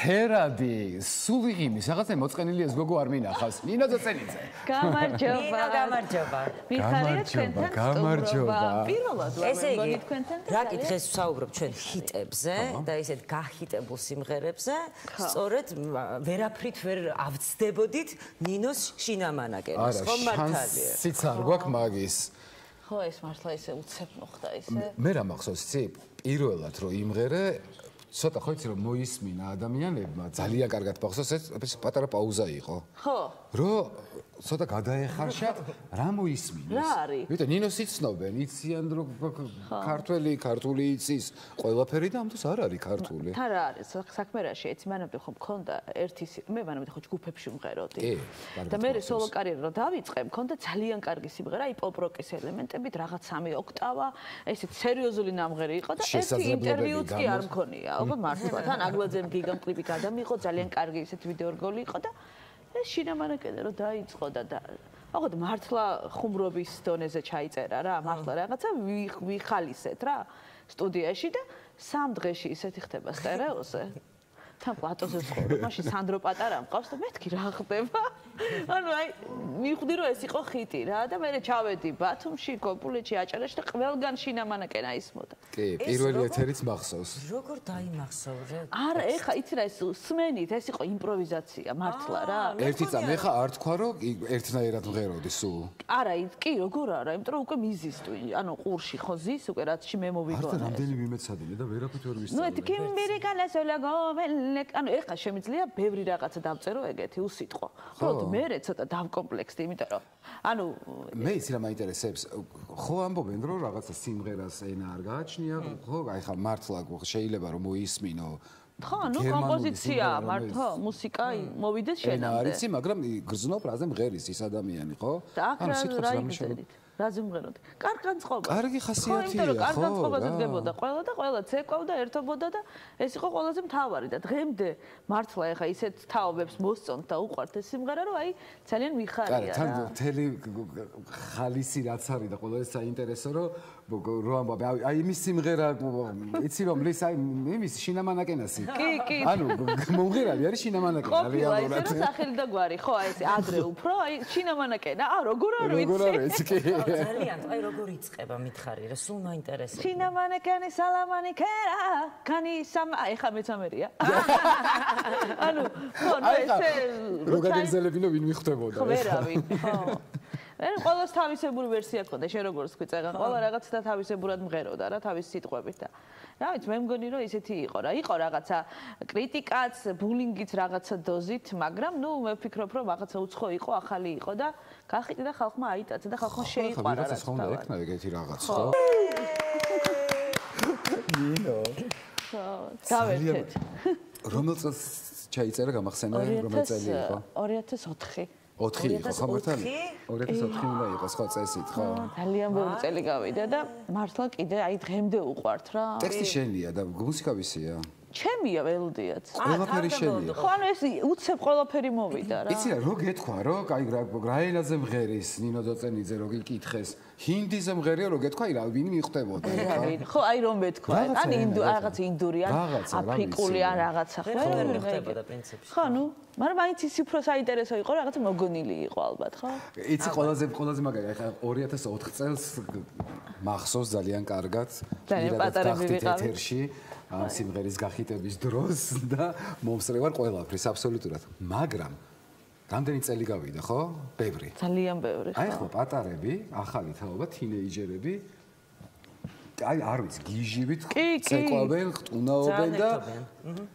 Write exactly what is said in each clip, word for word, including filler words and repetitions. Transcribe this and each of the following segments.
ფერადი, სულიღიმის, რაღაცა მოწყენილი ეს გოგო არ მინახავს. ნინო ძოცენიძე. გამარჯობა. ნინო გამარჯობა. მიხარია თქვენთან გამარჯობა. პირველად ვარ მეგონი თქვენთან და რა კითხეს ვსაუბრობ ჩვენ ჰიტებზე და ისეთ გახიტებულ სიმღერებზე. სწორედ ვერაფრით ვერ ავწდებოდით ნინოს შინამანაკენას. ხო მართალია. სიც არ გვაქვს მაგის. ხო ეს მართლა ისე უცებ მოხდა ისე. მე რა მახსოვს იცი? პირველად რომ იმღერე ცოტა ხო იცი რომ მოისმინა ადამიანებმა ძალიან კარგად მახსოვს ეს პატარა პაუზა იყო. ხო. რომ ცოტა გადაეხარშათ რა მოისმინეს. რა არის? ვიტყვი ნინოს იცნობენ, იციან რომ ქართველი, ქართული იცის, ყველაფერი და ამას არ არის ქართული. თან რა არის? საქმე რაში? ეცი მანამდე ხო მქონდა ერთი მე მანამდე ხო ჯგუფებში ვმღეროდი. და მე სოლო კარიერა რომ დავიწყე, მქონდა ძალიან კარგი სიმღერა, აი პოპ-როკის ელემენტებით, რაღაც სამი ოქტავა, ესეც სერიოზული ნამღერი იყო და ერთი ინტერვიუც კი არ მქონია. აბა მართლა თან აგლაძემ გიგამ კლიპი გადამიღო, ძალიან კარგი ესეთი ვიდეო რგოლი იყო და ეს შინამანაკენე რომ დაიწყო და აღოდ მართლა ხუმრობის დონეზე ჩაიწერა რა, მართლა რაღაცა ვიხალისეთ რა სტუდიაში და სამ დღეში ისეთი ხდება სტერეოზე. თან პლატოზე ვცხოვრობ, მაშინ სანდრო პატარა მყავს და მეთქი რა ხდება. ანუ აი მივხვდი რომ ეს იყო ხიტი რა და მე ჩავედი ბათუმში, გოგულეთში, აჭარაში და ყველგან შინამანაკენა ისმოდა. კი, პირველი ეთერიც მახსოვს. როგორ დაიმახსოვრე? არა, ეხა იცი რა ეს სმენით, ეს იყო იმპროვიზაცია მართლა რა. ერთი წამი ეხა არ თქვა რომ ერთნაირად მღეროდი სულ. არა, კი, როგორ არა, იმიტომ რომ უკვე მიზისტვი, ანუ ყურში ხო ზის, უკვე რაცში მე მოვიგონე. არა, რამდენი ვიმეცადინე და ვერაფრით ვერ ვისწავლე. ნუ ეთი კიმბირიკანესოლა გომელ ანუ ეხლა შემიძლია ბევრი რაღაცა დავწერო ეგეთი უსიტყვო. უბრალოდ მე ცოტა დავკომპლექსდი, იმიტომ რომ ანუ მე იცი რა მაინტერესებს, ხო ამბობენ რომ რაღაცა სიმღერას ენა არ გააჩნია, ხო, აი ხა მართლა შეიძლება რომ მოისმინო. ხო, ნუ კომპოზიცია, მართლა მუსიკა მოვიდეს შენამდე. არ იცი, მაგრამ გრძნობ რაზე მღერის ის ადამიანი, ხო? ანუ სიტყვას რა მიშოვეთ? რაზე მღეროდი? კარგანწყობა. კარგი ხასიათია, ხო? კარგანწყობაზე დგებოდა ყველა და ყველა ცეკვავდა, ერთობოდა და ეს იყო ყველაზე მთავარი და დღემდე მართლა ეხა ისეთ თაობებს მოსწონთ და უყვართ ეს სიმღერა, რომ აი ძალიან მიხარია რა. თან მთელი ხალისი რაც არის და ყველა ეს საინტერესო რომ რო ამბობ აი იმის სიმღერა იცი რომ ლის აი იმის შინამანაკენასი. კი, კი. ანუ მომღერალი არის შინამანაკენა რეალურად. ეს სახელი და გვარი, ხო, აი ეს ადრე უფრო აი შინამანაკენა. აა როგორ არ ვიცი. როგორ არ ვიცი კი. ძალიან, აი როგორ იწყება მითხარი რა, სულ მაინტერესებს. შინამანაკენი სალამანი ქერა, კანი სამ ეხა მეცამერია. ანუ ხო, ესე რო გაგეგზელებინო ვინ მიხვდებოდა. ხო, ვერავინ, ხო. მე ყოველს თავისებური ვერსია ქონდა, შენ როგორ თქვი წეგან, ყველა რაღაც და თავისებურად მღეროდა რა, თავის სიტყვებით და რა ვიცი, მე მგონი რომ ისეთი იყო რა, იყო რაღაცა კრიტიკაც, ბულინგიც რაღაცა დოზით, მაგრამ ნუ მე ვფიქრობ რომ რაღაცა უცხო იყო, ახალი იყო და გახიტი და ხალხმა აიტაცა და ხალხმა შეიყვარა რა. რაღაცა ხონდა ეკნა ეგეთი რაღაც, ხო? ნინო. ხო, გავერთეთ. რომელ წელს ჩაიწერა გამახსენე, რომელ წელი იყო? ორი ათას ოთხი. ოთხი იყო ხო მართალი? ორი ათას ოთხი უნდა იყოს ხო წესით ხო? ძალიან ბევრი წელი გავიდა და მართლა კიდე აი დღემდე უყვართ რა. ტექსტი შენია და მუსიკა ვისია? ჩემია ველოდიაც. ყველაფერი შენია. ხო ანუ ეს უცებ ყველაფერი მოვიდა რა. იცი რა რო გეთქვა რო აი რა ენაზე მღერის ნინო ძოცენიძე რო გიკითხეს ჰინდიზე მღერია რო გეთქვა აი რა ვინ მიხვდებოდა ხო აი რომ მეთქვა ან ინდუ რაღაც ინდური ან აფრიკული ან რაღაცა ხო ვერ მიხვდებოდა პრინციპში. ხო ნუ მაგრამ მაინც ის უფრო საინტერესო იყო რაღაცა მოგონილი იყო ალბათ ხო? იცი ყველაზე ყველაზე მაგარი ახლა ორი ათას ოთხ წელს მახსოვს ძალიან კარგად ძალიან პატარები ვიყავით ამ სიმღერის გახიტების დროს და მომსწრევარ ყველაფრის აბსოლუტურად მაგრამ რამდენი წელი გავიდა ხო? ბევრი. ძალიან ბევრი. აი ხო პატარები, ახალი თაობა, თინეიჯერები აი არ ვიცი, გიჟივით ცეკვავენ, ხტუნაობენ და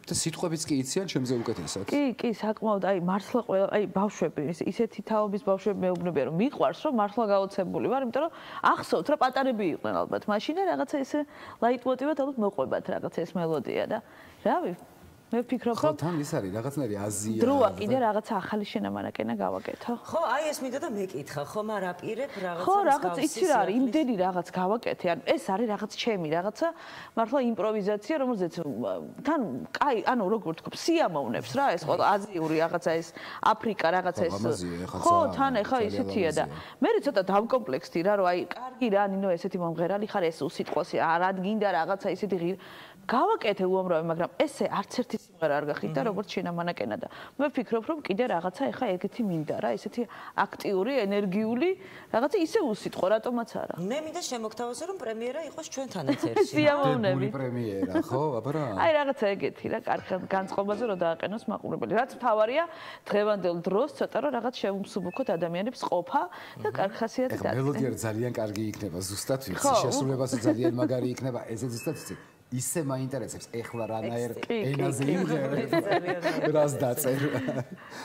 და სიტყვებიც კი იციან ჩემზე უკეთესად. კი, კი, საკმაოდ აი მართლა ყველა აი ბავშვები ისეთი თაობის ბავშვები მეუბნებიან რომ მიყვარს რომ მართლა გაოცებული ვარ, იმიტომ რომ ახსოვთ რა პატარები იყვნენ ალბათ მაშინ და რაღაცა ესე ლაიტმოტივად ალბათ მოყვებათ რაღაცა ეს მელოდია და რავი მე ვფიქრობ რომ ხო თან ის არის რაღაცნაირი აზია დროა კიდე რაღაცა ახალი შენამანაკენა გავაკეთო ხო აი ეს მინდა და მეკითხა ხო მაგრამ აპირებ რაღაცა ხო რაღაც იცი რა არის იმდენი რაღაც გავაკეთე ან ეს არის რაღაც ჩემი რაღაცა მართლა იმპროვიზაცია რომელზეც თან კაი ანუ როგორ თქვა სიამოვნებს რა ეს ყველა აზიური რაღაცა ეს აფრიკა რაღაცა ეს ხო თან ეხა ისეთია და მე ცოტა დავკომპლექსდი რა რომ აი კარგი რა ნინო ესეთი მომღერალი ხარ ეს უსიტყვოსი არ ადგინდა რაღაცა ისეთი გავაკეთე უამრავი, მაგრამ ესე არც ერთი სიმღერა არ გახიდა, როგორც შინამანაკენა და მე ვფიქრობ, რომ კიდე რაღაცა ეხა ეგეთი მინდა რა, ესეთი აქტიური, ენერგიული, რაღაცა ისე უსიტყო, რატომაც არა. მე მინდა შემოგთავაზო, რომ პრემიერა იყოს ჩვენთან ეთერში. სიამოვნებით. პრემიერა, ხო, აბა? აი რაღაცა ეგეთი რა, კარგ განწყობაზე რომ დააყენოს მაყურებელი. რაც მთავარია, დღევანდელ დროს ცოტა რომ რაღაც შევუმსუბუქოთ ადამიანებს ყოფა და კარგ ხასიათი დაწესდეს. ეხლა მელოდია ძალიან კარგი იქნება ზუსტად, ვიცი, შესრულებაზე ძალიან მაგარი იქნება, ესე ზუსტად ვიცი. ისე მაინტერესებს ეხლა რანაერ ენაზე იმღერებ რას დაწერ.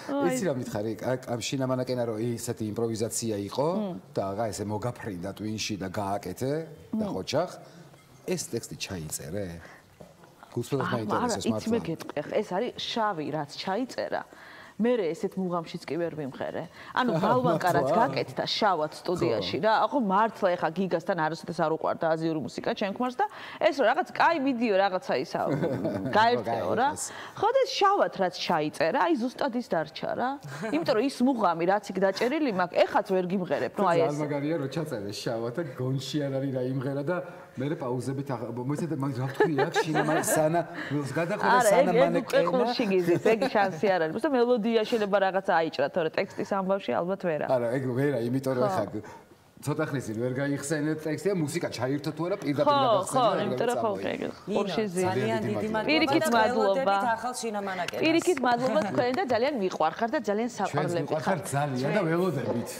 იცი რა მითხარი, ამ შინამანაკენა რომ ისეთი იმპროვიზაცია იყო და აღა ესე მოგაფრინდა ტვინში და გააკეთე და ხოჩახ ეს ტექსტი ჩაიწერე? გულწრფელად მაინტერესებს მართლა. იცი მე გეტყვი, ეს არის შავი რაც ჩაიწერა. მე ესეთ მუღამშიც კი ვერ ვიმღერე. ანუ ბალვანკარაც გაკეთდა შავად სტუდიაში რა. ახო მართლა ეხა გიგასთან არასოდეს არ უყვარდა აზიური მუსიკა ჩემქმარს და ეს რომ რაღაც კაი ვიდეო რაღაცა ისა გაერთეო რა. ხო და შავად რაც ჩაიწერა, აი ზუსტად ის დარჩა რა. იმიტომ რომ ის მუღამი რაც იქ დაჭერილი მაქვს, ეხაც ვერ გიმღერებ. ნუ აი ეს. ძალიან მაგარია რომ ჩაწერე შავად და გონში არ არის რა იმღერა და მე პაუზებით მოიცადე მაგ რა თქვი აქ შინამანაკენა სანა გადახვედა სანა მანეკენა. არა, ეგ შიგიზის, ეგ შანსი არ არის. უბრალოდ მელოდია შეიძლება რაღაცა აიჭრა, თორე ტექსტის ამბავში ალბათ ვერა. არა, ეგ ვერა, იმიტომ რომ ხა ცოტა ხნისი ვერ გაიხსენეთ ტექსტი და მუსიკა ჩაირთო თუ არა პირდაპირ გადახსენე. ხო, ხო, იმიტომ რომ ხო ეგ ხორში ზე. ძალიან დიდი მადლობა. პირიქით მადლობა. ახალ შინამანაკენას. პირიქით მადლობა თქვენ და ძალიან მიყვარხარ და ძალიან საყვარლები ხარ. ჩვენ მიყვარხარ ძალიან და ველოდებით.